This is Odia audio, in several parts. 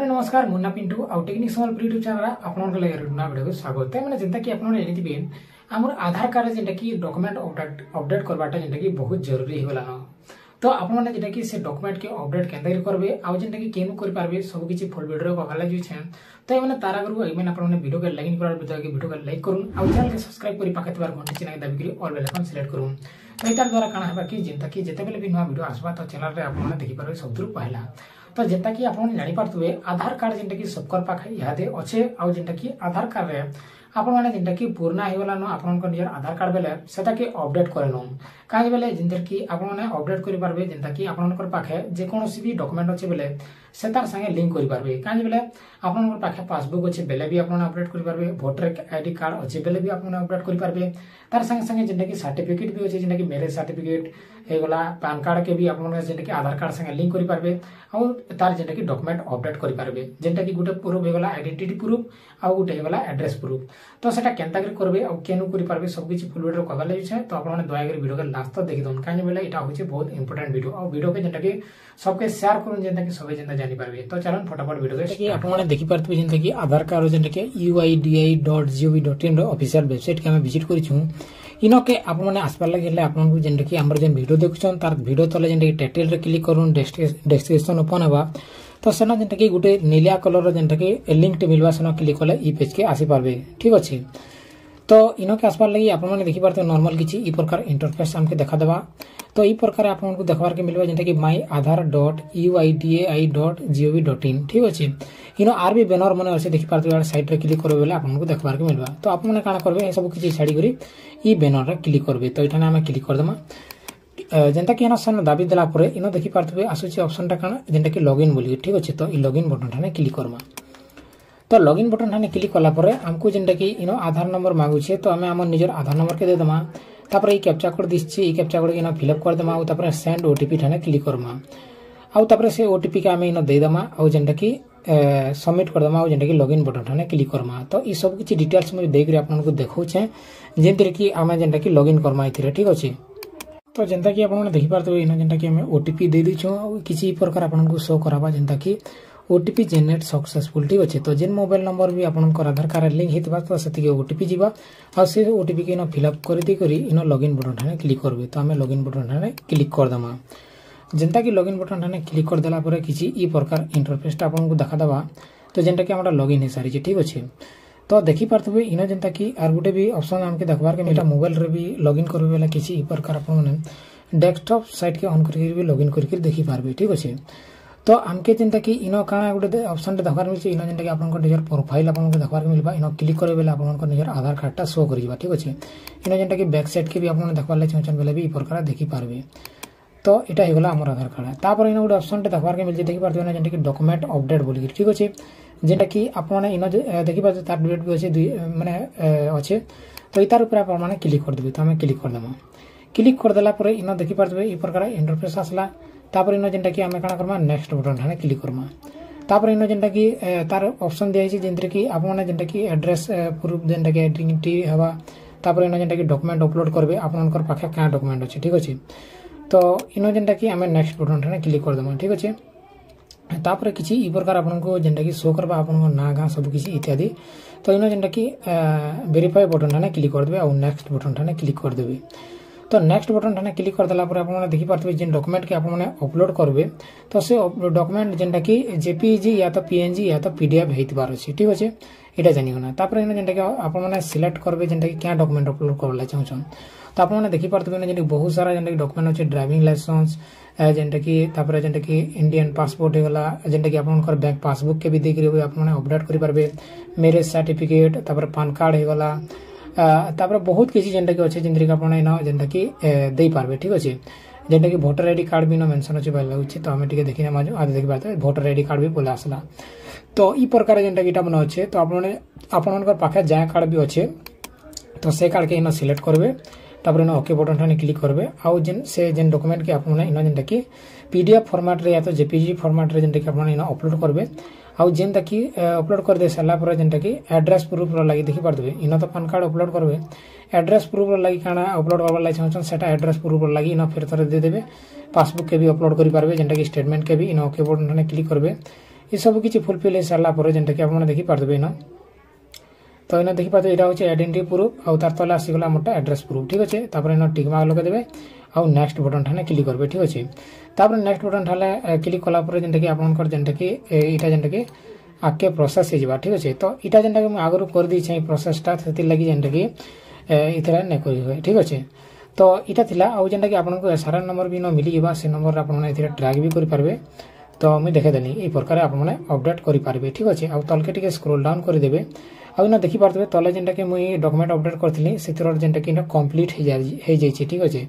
ଭାଇମାନେ, ନମସ୍କାର। ମୁନ୍ନା ପିଣ୍ଟୁ ଆଉ ଟେକ୍ନିକ୍ ସମ୍ବଲପୁର ୟୁଟ୍ୟୁବ୍ ଚ୍ୟାନେଲ୍ ଆପଣଙ୍କ ଲାଗି ନୂଆ ଭିଡ଼ିଓକୁ ସ୍ୱାଗତ। ମାନେ ଯେନ୍ତା କି ଆପଣ ଜାଣିଥିବେ, ଆମର ଆଧାର କାର୍ଡ ଯେନ୍ଟା କି ଡକୁମେଣ୍ଟ ଅପଡେଟ୍ କରବାଟା ଯେନ୍ଟା କି ବହୁତ ଜରୁରୀ ହେଇଗଲାନ। ତ ଆପଣମାନେ ଯେନ୍ଟା କି ସେ ଡକୁମେଣ୍ଟ କେ ଅପଡେଟ୍ କେନ୍ତା କରି କରବେ ଆଉ ଯେନ୍ଟା କି କେନୁ କରିପାରବେ, ସବୁ କିଛି ଫୁଲ୍ ଭିଡ଼ିଓ କହିବାର ଲାଗି ଯାଉଛେ। ତ ଏମାନେ ତାର ଆଗରୁ ଏମାନେ ଆପଣମାନେ ଭିଡ଼ିଓକେ ଲାଇକ୍ କରାର ଭିତରେ ଭିଡ଼ିଓକେ ଲାଇକ୍ କରୁନ୍ ଆଉ ଚ୍ୟାନେଲକେ ସବସ୍କ୍ରାଇବ୍ କରି ପାଖେ ଥିବାର ଘଣ୍ଟି ଚିହ୍ନକେ ଦାବିକରି ଅଲ୍ ବେଲ୍ ଆଇକନ୍ ସିଲେକ୍ଟ କରୁନ୍। ତ ଏଟାର ଦ୍ୱାରା କାଣା ହେବା କି ଯେନ୍ତା କି ଯେତେବେଲେ ବି ନୂଆ ଭିଡ଼ିଓ ଆସବା, ତ ଚ୍ୟାନେଲରେ ଆପଣମାନେ ଦେଖିପାରିବେ ସବୁଥିରୁ ପହଲା। ତ ଯେନ୍ତା କି ଆପଣ ଜାଣିପାରୁଥିବେ, ଆଧାର କାର୍ଡ ଯେନ୍ଟା କି ସବକର ପାଖେ ଇହାଦେ ଅଛେ ଆଉ ଯେନ୍ଟା କି ଆଧାର କାର୍ଡରେ ଆପଣମାନେ ଯେନ୍ଟା କି ପୁରୁଣା ହେଇଗଲାନ ଆପଣଙ୍କ ନିଜର ଆଧାର କାର୍ଡ ବେଲେ ସେଟାକେ ଅପଡେଟ୍ କରିନଉନ୍। କାହିଁ ବେଲେ ଯେନ୍ତା କି ଆପଣମାନେ ଅପଡେଟ୍ କରିପାରିବେ, ଯେନ୍ତା କି ଆପଣଙ୍କର ପାଖେ ଯେକୌଣସି ବି ଡକୁମେଣ୍ଟ ଅଛି ବେଲେ ସେ ତାର ସାଙ୍ଗେ ଲିଙ୍କ କରିପାରିବେ। କାହିଁ ବେଲେ ଆପଣଙ୍କର ପାଖେ ପାସବୁକ୍ ଅଛି ବେଲେ ବି ଆପଣ ଅପଡେଟ୍ କରିପାରିବେ, ଭୋଟର ଆଇଡି କାର୍ଡ ଅଛି ବେଲେ ବି ଆପଣ ଅପଡେଟ୍ କରିପାରିବେ। ତାର ସାଙ୍ଗେ ସାଙ୍ଗେ ଯେନ୍ଟା କି ସାର୍ଟିଫିକେଟ୍ ବି ଅଛି, ଯେନ୍ଟା କି ମ୍ୟାରେଜ ସାର୍ଟିଫିକେଟ୍ ହେଇଗଲା, ପାନ୍ କାର୍ଡ କେ ବି ଆପଣ ଯେନ୍ଟା କି ଆଧାର କାର୍ଡ ସାଙ୍ଗେ ଲିଙ୍କ କରିପାରିବେ ଆଉ ତାର ଯେନ୍ଟା କି ଡକୁମେଣ୍ଟ ଅପଡେଟ୍ କରିପାରିବେ। ଯେନ୍ଟା କି ଗୋଟେ ପ୍ରୁଫ୍ ହେଇଗଲା ଆଇଡେଣ୍ଟିଟି ପ୍ରୁଫ୍ ଆଉ ଗୋଟେ ହେଇଗଲା ଆଡ୍ରେସ୍ ପ୍ରୁଫ୍। ତ ସେଟା କେନ୍ତା କରି କରବେ ଆଉ କେନୁ କରିପାରିବେ, ସବୁ କିଛି ଫୁଲ୍ ଭିଡ଼ିଓ କହିବାର ଲାଗିছে। ତ ଆପଣମାନେ ଦୟାକରି ଭିଡ଼ିଓକେ ଲାଷ୍ଟ ତକ ଦେଖିଦଉନ୍। କାହିଁ ବେଲେ ଏଇଟା ହଉଛି ବହୁତ ଇମ୍ପୋର୍ଟାଣ୍ଟ ଭିଡ଼ିଓ ଆଉ ଭିଡ଼ିଓକେ ଯେନ୍ଟା କି ସବକେ ସେୟାର କରୁନ୍, ଯେନ୍ଟା କି ସବେ ଯେନ୍ତା ଜାଣିପାରିବେ। ତ ଚାଲୁନ୍ ଫଟାଫଟ ଭିଡ଼ିଓକେ। କି ଆପଣମାନେ ଦେଖିପାରୁଥିବେ, ଯେନ୍ତା କି ଆଧାର କାର୍ଡ ଯେନ୍ଟା କି uidai.gov.in ର ଅଫିସିଆଲ ୱେବସାଇଟ୍ କେ ଆମେ ଭିଜିଟ୍ କରିଛୁଁ। ଇନକେ ଆପଣମାନେ ଆସବାର ଲାଗି ହେଲେ ଆପଣଙ୍କୁ ଯେନ୍ଟା କି ଆମର ଯେନ୍ ଭିଡ଼ିଓ ଦେଖୁଛନ୍, ତାର ଭିଡ଼ିଓ ତଲେ ଯେନ୍ଟା କି ଟାଇଟଲରେ କ୍ଲିକ୍ କରୁନ୍, ଡେସ୍କ୍ରିପସନ ଓପନ୍ ହେବା। ତ ସେନ ଯେନ୍ଟା କି ଗୋଟେ ନିଲିଆ କଲରର ଯେନ୍ଟା କି ଲିଙ୍କଟେ ମିଲବା, ସେନ କ୍ଲିକ୍ କଲେ ଇ ପେଜକେ ଆସିପାରବେ। ଠିକ୍ ଅଛି। ତ ଇନକେ ଆସବାର ଲାଗି ଆପଣମାନେ ଦେଖିପାରୁଥିବେ, ନର୍ମାଲ କିଛି ଇ ପ୍ରକାର ଇଣ୍ଟରଫେସ୍ ଆମକେ ଦେଖାଦେବା। ତ ଏଇ ପ୍ରକାର ଆପଣଙ୍କୁ ଦେଖବାରକେ ମିଲବା, ଯେନ୍ଟା କି myaadhaar.uidai.gov.in। ଠିକ୍ ଅଛି। ଇନ ଆର୍ ବି ବ୍ୟାନର ମାନେ ଅଛି, ଦେଖିପାରୁଥିବେ। ସାଇଟ୍ରେ କ୍ଲିକ୍ କରିବେ ବେଲେ ଆପଣଙ୍କୁ ଦେଖବାରକେ ମିଲବା। ତ ଆପଣମାନେ କାଣା କରିବେ, ଏସବୁ କିଛି ଛାଡ଼ିକରି ଇ ବ୍ୟାନରରେ କ୍ଲିକ୍ କରିବେ। ତ ଏଠାନେ ଆମେ କ୍ଲିକ୍ କରିଦେମା। ଯେନ୍ତା କି ଏନ ସେନ ଦାବି ଦେଲା ପରେ ଇନ ଦେଖିପାରୁଥିବେ, ଆସୁଛି ଅପସନଟା କାଣା, ଯେନ୍ଟା କି ଲଗ୍ଇନ୍ ବୋଲିକି। ଠିକ୍ ଅଛି। ତ ଇ ଲଗ୍ଇନ୍ ବଟନଠାନେ କ୍ଲିକ୍ କରମା। ତ ଲଗ୍ଇନ୍ ବଟନଠାନେ କ୍ଲିକ୍ କଲା ପରେ ଆମକୁ ଯେନ୍ଟା କି ଇନ ଆଧାର ନମ୍ବର ମାଗୁଛେ, ତ ଆମେ ଆମର ନିଜର ଆଧାର ନମ୍ବରକେ ଦେଇଦେମା। ତାପରେ ଏଇ କ୍ୟାପଚା କୋଡ୍ ଦିଶଛି, ଏଇ କ୍ୟାପଚା କୋଡ୍ ଇନ ଫିଲ୍ଅପ୍ କରିଦେମା ଆଉ ତାପରେ ସେଣ୍ଡ ଓଟିପି ଠାନେ କ୍ଲିକ୍ କରମା। ଆଉ ତାପରେ ସେ ଓଟିପି କେ ଆମେ ଇନ ଦେଇଦେମା ଆଉ ଯେନ୍ଟା କି ସବମିଟ୍ କରିଦେମା ଆଉ ଯେନ୍ଟା କି ଲଗ୍ଇନ୍ ବଟନ୍ ଠାନେ କ୍ଲିକ୍ କରମା। ତ ଇ ସବୁ କିଛି ଡିଟେଲ୍ସ ମୁଇଁ ଦେଇକରି ଆପଣଙ୍କୁ ଦେଖଉଛେ, ଯେନ୍ଥିରେ କି ଆମେ ଯେନ୍ଟା କି ଲଗ୍ଇନ୍ କରମା ଏଥିରେ। ଠିକ୍ ଅଛି। ତ ଯେନ୍ତା କି ଆପଣମାନେ ଦେଖିପାରୁଥିବେ, ଇନ ଯେନ୍ଟା କି ଆମେ ଓଟିପି ଦେଇ ଦେଇଛୁଁ ଆଉ କିଛି ପ୍ରକାର ଆପଣଙ୍କୁ ଶୋ କରାବା, ଯେନ୍ତା କି ଓଟିପି ଜେନେରେଟ୍ ସକ୍ସେସଫୁଲ୍। ଠିକ୍ ଅଛି। ତ ଯେନ୍ ମୋବାଇଲ ନମ୍ବର ବି ଆପଣଙ୍କର ଆଧାର କାର୍ଡ ଲିଙ୍କ ହେଇଥିବା, ତ ସେତିକି ଓଟିପି ଯିବା ଆଉ ସେ ଓଟିପି କେ ଇନ ଫିଲ୍ଅପ୍ କରିଦେଇକରି ଇନ ଲଗ୍ଇନ୍ ବଟନ୍ ଠାନେ କ୍ଲିକ୍ କରିବେ। ତ ଆମେ ଲଗ୍ଇନ୍ ବଟନ୍ ଠାନେ କ୍ଲିକ୍ କରିଦେମା। ଯେନ୍ତା କି ଲଗ୍ଇନ୍ ବଟନ୍ ଠାନେ କ୍ଲିକ୍ କରିଦେଲା ପରେ କିଛି ଇ ପ୍ରକାର ଇଣ୍ଟରଫେସଟା ଆପଣଙ୍କୁ ଦେଖାଦେବା। ତ ଯେନ୍ଟା କି ଆମର ଲଗ୍ଇନ୍ ହେଇସାରିଛି। ଠିକ୍ ଅଛି। ତ ଦେଖିପାରୁଥିବେ, ଇନ ଯେନ୍ତା କି ଆର୍ ଗୋଟେ ବି ଅପସନ୍ ଆମକେ ଦେଖବାର୍କେ। ଏଇଟା ମୋବାଇଲରେ ବି ଲଗ୍ଇନ୍ କରିବେ ବେଲେ କିଛି ଇ ପ୍ରକାର ଆପଣମାନେ ଡେସ୍କଟପ୍ ସାଇଟ୍କେ ଅନ୍ କରିକି ବି ଲଗ୍ଇନ୍ କରିକି ଦେଖିପାରବେ। ଠିକ୍ ଅଛି। ତ ଆମକେ ଯେନ୍ତା କି ଇନ କାଣା ଗୋଟେ ଅପସନ୍ଟେ ଦେଖବାର ମିଳୁଛି, ଇନ ଯେନ୍ଟା କି ଆପଣଙ୍କ ନିଜର ପ୍ରୋଫାଇଲ୍ ଆପଣଙ୍କୁ ଦେଖବାର୍କେ ମିଲବା। ଇନ କ୍ଲିକ୍ କରିବେ ବେଲେ ଆପଣଙ୍କ ନିଜର ଆଧାର କାର୍ଡଟା ଶୋ କରିଯିବା। ଠିକ୍ ଅଛି। ଇନ ଯେନ୍ଟା କି ବ୍ୟାକ୍ ସାଇଡ୍ କେ ବି ଆପଣ ଦେଖବାର ଲାଗି ଚାହୁଁଛନ୍ ବେଲେ ବି ଇ ପ୍ରକାର ଦେଖିପାରବେ। ତ ଏଇଟା ହେଇଗଲା ଆମର ଆଧାର କାର୍ଡ। ତାପରେ ଇନ ଗୋଟେ ଅପସନ୍ଟେ ଦେଖବାର୍କେ ମିଳୁଛି, ଦେଖିପାରୁଥିବେ ନା, ଯେନ୍ଟା କି ଡକୁମେଣ୍ଟ ଅପଡେଟ୍ ବୋଲିକି। ଠିକ୍ ଅଛି। ଯେନ୍ଟା କି ଆପଣମାନେ ଇନ ଦେଖିପାରୁଥିବେ, ତାର ଡେଟ୍ ବି ଅଛି, ଦୁଇ ମାନେ ଅଛେ। ତ ତାର ଉପରେ ଆପଣମାନେ କ୍ଲିକ୍ କରିଦେବେ। ତ ଆମେ କ୍ଲିକ୍ କରିଦେମା। କ୍ଲିକ୍ କରିଦେଲା ପରେ ଇନ ଦେଖିପାରୁଥିବେ, ଏଇ ପ୍ରକାର ଇଣ୍ଟରଫେସ୍ ଆସିଲା। ତାପରେ ଇନ ଯେନ୍ଟା କି ଆମେ କାଣା କର୍ମା, ନେକ୍ସଟ ବଟନ୍ ଠାନେ କ୍ଲିକ୍ କର୍ମା। ତାପରେ ଇନ ଯେନ୍ଟା କି ତାର ଅପସନ୍ ଦିଆହେଇଛି, ଯେନ୍ଥିରେ କି ଆପଣମାନେ ଯେନ୍ଟା କି ଆଡ୍ରେସ୍ ପ୍ରୁଫ୍, ଯେନ୍ଟା କି ଆଇଡେଣ୍ଟିଟି ହେବା। ତାପରେ ଇନ ଯେନ୍ଟା କି ଡକୁମେଣ୍ଟ ଅପଲୋଡ୍ କରିବେ, ଆପଣଙ୍କର ପାଖେ କାଁ ଡକୁମେଣ୍ଟ ଅଛି। ଠିକ୍ ଅଛି। ତ ଇନ ଯେନ୍ଟା କି ଆମେ ନେକ୍ସଟ ବଟନ୍ ଠାନେ କ୍ଲିକ୍ କରିଦେମା। ଠିକ୍ ଅଛି। ତାପରେ କିଛି ଇ ପ୍ରକାର ଆପଣଙ୍କୁ ଯେନ୍ଟା କି ଶୋ କରବା, ଆପଣଙ୍କ ନାଁ, ଗାଁ, ସବୁ କିଛି ଇତ୍ୟାଦି। ତ ଇନ ଯେନ୍ଟା କି ଭେରିଫାଏ ବଟନ୍ ଠାନେ କ୍ଲିକ୍ କରିଦେବେ ଆଉ ନେକ୍ସଟ ବଟନ୍ ଠାନେ କ୍ଲିକ୍ କରିଦେବେ। ତ ନେକ୍ସଟ ବଟନ୍ ଠାନେ କ୍ଲିକ୍ କରିଦେଲା ପରେ ଆପଣମାନେ ଦେଖିପାରୁଥିବେ, ଯେନ୍ ଡକୁମେଣ୍ଟକେ ଆପଣମାନେ ଅପଲୋଡ୍ କରିବେ, ତ ସେ ଡକୁମେଣ୍ଟ ଯେନ୍ଟା କି ଜେପିଜି ୟା ତ ପିଏନଜି ୟା ତ ପିଡିଏଫ୍ ହେଇଥିବାର ଅଛି। ଠିକ୍ ଅଛି, ଏଇଟା ଜାଣିଗଲା। ତାପରେ ଇନ ଯେନ୍ଟା କି ଆପଣମାନେ ସିଲେକ୍ଟ କରିବେ, ଯେନ୍ଟା କି କ୍ୟା ଡକୁମେଣ୍ଟ ଅପଲୋଡ୍ କରବାର ଲାଗି ଚାହୁଁଛନ୍। ତ ଆପଣମାନେ ଦେଖିପାରୁଥିବେ ନା, ଯେନ୍ଟା ବହୁତ ସାରା ଯେନ୍ଟା କି ଡକୁମେଣ୍ଟ ଅଛି, ଡ୍ରାଇଭିଂ ଲାଇସେନ୍ସ ଯେନ୍ଟା କି, ତାପରେ ଯେନ୍ଟା କି ଇଣ୍ଡିଆନ୍ ପାସପୋର୍ଟ ହେଇଗଲା, ଯେନ୍ଟା କି ଆପଣଙ୍କର ବ୍ୟାଙ୍କ ପାସବୁକ୍ କେ ବି ଦେଇକରି ଆପଣମାନେ ଅପଡେଟ୍ କରିପାରିବେ, ମ୍ୟାରେଜ ସାର୍ଟିଫିକେଟ୍, ତାପରେ ପାନ୍ କାର୍ଡ ହେଇଗଲା, ତାପରେ ବହୁତ କିଛି ଯେନ୍ଟା କି ଅଛି, ଯେନ୍ଥିରେ କି ଆପଣ ଇନ ଯେନ୍ଟା କି ଦେଇପାରିବେ। ଠିକ୍ ଅଛି। ଯେନ୍ଟା କି ଭୋଟର ଆଇଡି କାର୍ଡ ବି ଇନ ମେନସନ୍ ଅଛି ବୋଲି ଲାଗୁଛି। ତ ଆମେ ଟିକେ ଦେଖିନେମା। ଆଜି ଦେଖିପାରୁଥିବେ, ଭୋଟର ଆଇଡି କାର୍ଡ ବି ପଳେଇ ଆସିଲା। ତ ଇ ପ୍ରକାର ଯେନ୍ଟା କି ଇଟା ମାନେ ଅଛେ। ତ ଆପଣମାନେ ଆପଣଙ୍କର ପାଖେ ଯାହା କାର୍ଡ ବି ଅଛେ, ତ ସେ କାର୍ଡକେ ଇନ ସିଲେକ୍ଟ କରିବେ। ତାପରେ ଇନ ଓକେ ବଟନ୍ ଠାନେ କ୍ଲିକ୍ କରିବେ ଆଉ ଯେନ୍ ସେ ଯେନ୍ ଡକୁମେଣ୍ଟ କି ଆପଣମାନେ ଇନ ଯେନ୍ଟା କି ପିଡିଏଫ୍ ଫର୍ମାଟ୍ରେ ୟା ତ ଜେପିଜି ଫର୍ମାଟ୍ରେ ଯେନ୍ଟା କି ଆପଣ ଇନ ଅପଲୋଡ୍ କରିବେ। ଆଉ ଯେନ୍ଟା କି ଅପଲୋଡ୍ କରିଦେଇ ସାରିଲା ପରେ ଯେନ୍ଟା କି ଆଡ୍ରେସ୍ ପ୍ରୁଫ୍ର ଲାଗି ଦେଖିପାରୁଥିବେ, ଇନ ତ ପାନ୍ କାର୍ଡ ଅପଲୋଡ୍ କରିବେ, ଆଡ୍ରେସ୍ ପ୍ରୁଫ୍ର ଲାଗି କାଣା ଅପଲୋଡ୍ କରବାର ଲାଗି ଚାହୁଁଛନ୍, ସେଟା ଆଡ୍ରେସ୍ ପ୍ରୁଫ୍ର ଲାଗି ଇନ ଫେର୍ ଥରେ ଦେଇଦେବେ। ପାସବୁକ୍ କେ ବି ଅପଲୋଡ୍ କରିପାରିବେ, ଯେନ୍ଟା କି ଷ୍ଟେଟମେଣ୍ଟ କେ ବି। ଇନ ଓକେ ବଟନ୍ ଠାନେ କ୍ଲିକ୍ କରିବେ। ଏସବୁ କିଛି ଫୁଲଫିଲ୍ ହେଇସାରିଲା ପରେ ଯେନ୍ଟାକି ଆପଣମାନେ ଦେଖିପାରୁଥିବେ ଇନ। ତ ଏଇନା ଦେଖିପାରୁଥିବେ, ଏଇଟା ହେଉଛି ଆଇଡେଣ୍ଟିଟି ପ୍ରୁଫ୍ ଆଉ ତାର ତଲେ ଆସିଗଲା ଆମରଟା ଆଡ୍ରେସ୍ ପ୍ରୁଫ୍, ଠିକ୍ ଅଛି। ତାପରେ ଏଇନା ଟିକ୍ ମାର୍କ ଲଗେଇଦେବେ ଆଉ ନେକ୍ସଟ ବଟନ୍ ଠାନେ କ୍ଲିକ୍ କରିବେ, ଠିକ୍ ଅଛି। ତାପରେ ନେକ୍ସଟ ବଟନ୍ ଠାନେ କ୍ଲିକ୍ କଲା ପରେ ଯେନ୍ଟାକି ଆପଣଙ୍କର ଯେନ୍ଟାକି ଏଇଟା ଯେନ୍ଟାକି ଆଗକେ ପ୍ରୋସେସ୍ ହେଇଯିବା, ଠିକ୍ ଅଛି। ତ ଏଇଟା ଯେନ୍ଟାକି ମୁଁ ଆଗରୁ କରିଦେଇଛେ ଏଇ ପ୍ରୋସେସଟା, ସେଥିର୍ଲାଗି ଯେନ୍ଟାକି ଏଥିରେ ନାଇଁ କରି ହୁଏ, ଠିକ୍ ଅଛି। ତ ଏଇଟା ଥିଲା। ଆଉ ଯେନ୍ଟାକି ଆପଣଙ୍କୁ ଏସ୍ଆର୍ଏନ୍ ନମ୍ବର ବି ନ ମିଳିଯିବା, ସେ ନମ୍ବରରେ ଆପଣମାନେ ଏଥିରେ ଟ୍ରାକ୍ ବି କରିପାରିବେ। ତ ମୁଇଁ ଦେଖେଇଦେଲି, ଏଇ ପ୍ରକାର ଆପଣମାନେ ଅପଡେଟ୍ କରିପାରିବେ, ଠିକ୍ ଅଛି। ଆଉ ତଲକେ ଟିକେ ସ୍କ୍ରୋଲ୍ ଡାଉନ୍ କରିଦେବେ ଆଉ ଇନ ଦେଖିପାରୁଥିବେ, ତଲେ ଯେନ୍ଟାକି ମୁଇଁ ଡକୁମେଣ୍ଟ ଅପଡେଟ୍ କରିଥିଲି, ସେଥିର ଯେନ୍ଟାକି ଇନ କମ୍ପ୍ଲିଟ୍ ହେଇଯାଇଛି, ଠିକ୍ ଅଛି।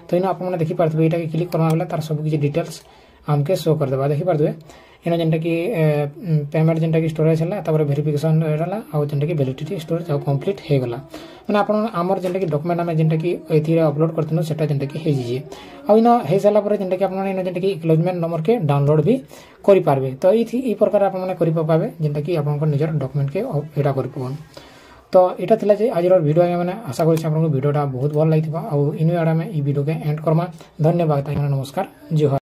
ତ ଇନ ଆପଣମାନେ ଦେଖିପାରୁଥିବେ, ଏଇଟାକେ କ୍ଲିକ୍ କର୍ମା ବେଲେ ତାର ସବୁ କିଛି ଡିଟେଲ୍ସ ଆମକେ ଶୋ କରିଦେବା। ଦେଖିପାରୁଥିବେ, ଇନ ଯେନ୍ଟାକି ପେମେଣ୍ଟ ଯେନ୍ଟାକି ଷ୍ଟୋରେଜ୍ ହେଲା, ତାପରେ ଭେରିଫିକେସନ୍ ହେଲା ଆଉ ଯେନ୍ଟାକି ଭ୍ୟାଲିଡିଟି ଷ୍ଟୋରେଜ୍ ଆଉ କମ୍ପ୍ଲିଟ୍ ହେଇଗଲା। ମାନେ ଆପଣ ଆମର ଯେନ୍ଟାକି ଡକୁମେଣ୍ଟ ଆମେ ଯେନ୍ଟାକି ଏଥିରେ ଅପଲୋଡ୍ କରିଥିଲୁ, ସେଟା ଯେନ୍ଟାକି ହେଇଯାଇଛି। ଆଉ ଇନ ହେଇସାରିଲା ପରେ ଯେନ୍ଟାକି ଆପଣମାନେ ଇନ ଯେନ୍ଟାକି ଏକ୍ନଲେଜମେଣ୍ଟ ନମ୍ବରକେ ଡାଉନଲୋଡ୍ ବି କରିପାରିବେ। ତ ଏଇଥି ଏଇ ପ୍ରକାର ଆପଣମାନେ କରି ପକାବେ, ଯେନ୍ଟାକି ଆପଣଙ୍କର ନିଜର ଡକୁମେଣ୍ଟକେ ଏଇଟା କରି ପକାଉନ୍। ତ ଏଇଟା ଥିଲା ଯେ ଆଜିର ଭିଡ଼ିଓ ଆଜ୍ଞା ମାନେ। ଆଶା କରୁଛି ଆପଣଙ୍କୁ ଭିଡ଼ିଓଟା ବହୁତ ଭଲ ଲାଗିଥିବ। ଆଉ ଇନୁ ଆଡ଼େ ଆମେ ଏଇ ଭିଡ଼ିଓକେ ଏଣ୍ଡ କର୍ମା। ଧନ୍ୟବାଦ ଆଜ୍ଞା, ନମସ୍କାର, ଜୁହାର।